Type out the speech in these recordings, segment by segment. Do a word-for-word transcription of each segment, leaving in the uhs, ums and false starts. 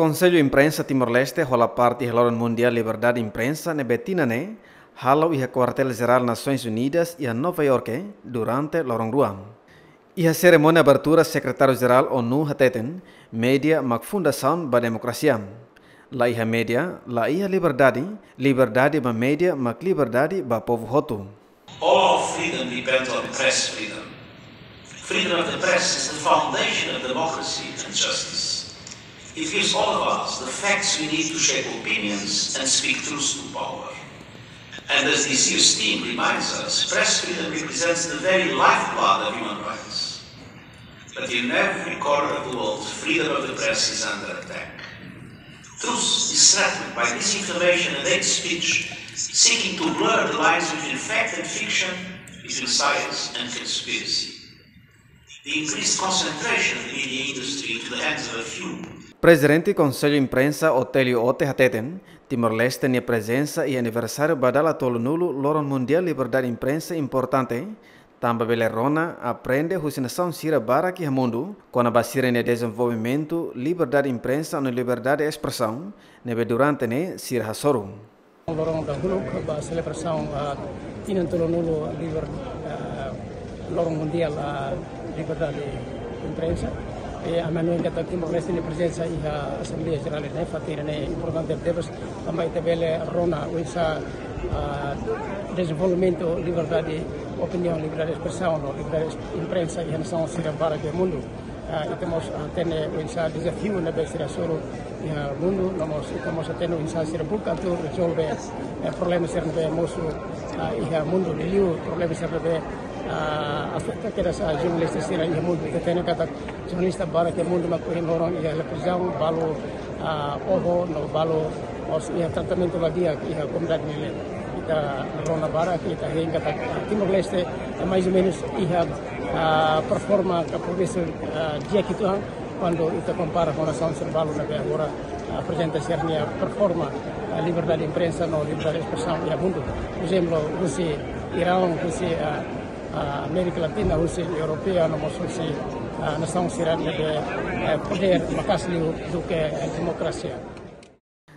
Konsellu Imprensa Timor-Leste hola parte iha Loron Mundiál Liberdade Imprensa ne'ebé tinan ne'e halo iha Kuartél Jerál Nasoins Unidas iha Nova Iorke durante loron rua. Iha serimónia abertura, Sekretáriu Jerál ONU hateten, média mak fundasaun ba demokrasia. La iha média, la iha liberdade, liberdade ba média mak liberdade ba povu hotu. All our freedom depends on press freedom. Freedom of the press is the foundation of democracy and justice. It gives all of us the facts we need to shape opinions and speak truth to power. And as this year's theme reminds us, press freedom represents the very lifeblood of human rights. But in every corner of the world, freedom of the press is under attack. Truth is threatened by disinformation and hate speech, seeking to blur the lines between fact and fiction, between science and conspiracy. The increased concentration of the media industry into the hands of a few. Prezidente Konsellu Imprensa Otélio Ote hateten, Timor-Leste nia prezensa iha aniversáriu ba dala tolunulu Loron Mundiál Liberdade Imprensa importante, tanba bele rona, aprende husi nasaun sira barak iha mundu, kona-ba sira-nia dezenvolvimentu, liberdade imprensa no liberdade espresaun, ne'ebé durante ne'e sira hasoru. Loron dahuluk ba selebrasaun, ah, tinan tolunulu liber-, ah, Loron Mundiál, ah, Liberdade Imprensa. I ami hanoin katak Timor-Leste nia prezensa iha Asembleia Jerál ne'e, fatin ne'e importante tebes, tanba ita bele rona oinsá, ah, dezenvolvimentu liberdade opiniaun, liberdade espresaun no liberdade imprensa iha nasaun sira barak iha mundu. Ah, ita mós, ah, hatene oinsá dezafiu ne'ebé sira hasoru iha mundu, no mós ita mós hatene oinsá sira buka atu rezolve, eh, problema sira ne'ebé mosu, ah, iha mundu, liuliu problema sira ne'ebé, ah, afeta kedas jornalista sira iha mundu. Ita hatene katak jornalista barak iha mundu mak ohin loron iha hela prizaun, balu, ah, oho, no balu mós iha tratamentu la di'ak iha komunidade nia leet. Ita rona barak, ita hein katak, ah, Timor-Leste, eh, mais ou menus iha, ah, performa ka progresu, ah, di'ak uitoan, kuandu ita kompara ho nasaun sira balu ne'ebé agora, ah, aprezenta sira-nia performa, ah, liberdade imprensa no liberdade espresaun iha mundu. Por ezemplu, husi Iraun, husi, ah, ah, Amérika Latina, husi Europeia, no mós husi, ah, nasaun sira ne'ebé, eh, podér maka'as liu duké, eh, demokrasia.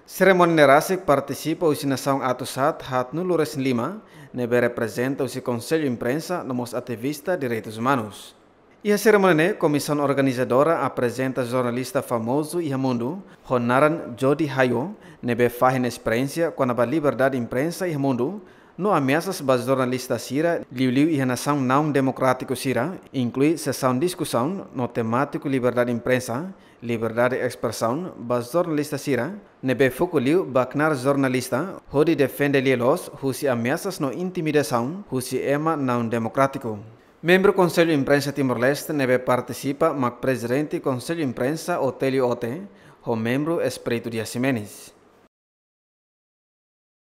Serimónia ne'e rasik partisipa husi nasaun atus haat haatnulu-resin-lima, ne'ebé reprezenta husi Konsellu Imprensa no mós ativista direitus umanus. Iha serimónia ne'e, komisaun organizadora aprezenta jornalista famozu iha mundu, ho naran Jodi Hayo, ne'ebé fahe nia esperiénsia kona-ba liberdade imprensa iha mundu, no ameasas ba jornalista sira, liuliu iha nasaun naun demokrátiku sira, inklui sesaun diskusaun no temátiku liberdade imprensa, liberdade espresaun ba jornalista sira, ne'ebé foku liu ba knaar jornalista, hodi defende lia loos husi ameasas no intimidasaun husi ema naun demokrátiku. Membru Konsellu Imprensa Timor-Leste ne'ebé partisipa mak Prezidente Konsellu Imprensa Otélio Ote, ho membru Espírito Dias Ximenes.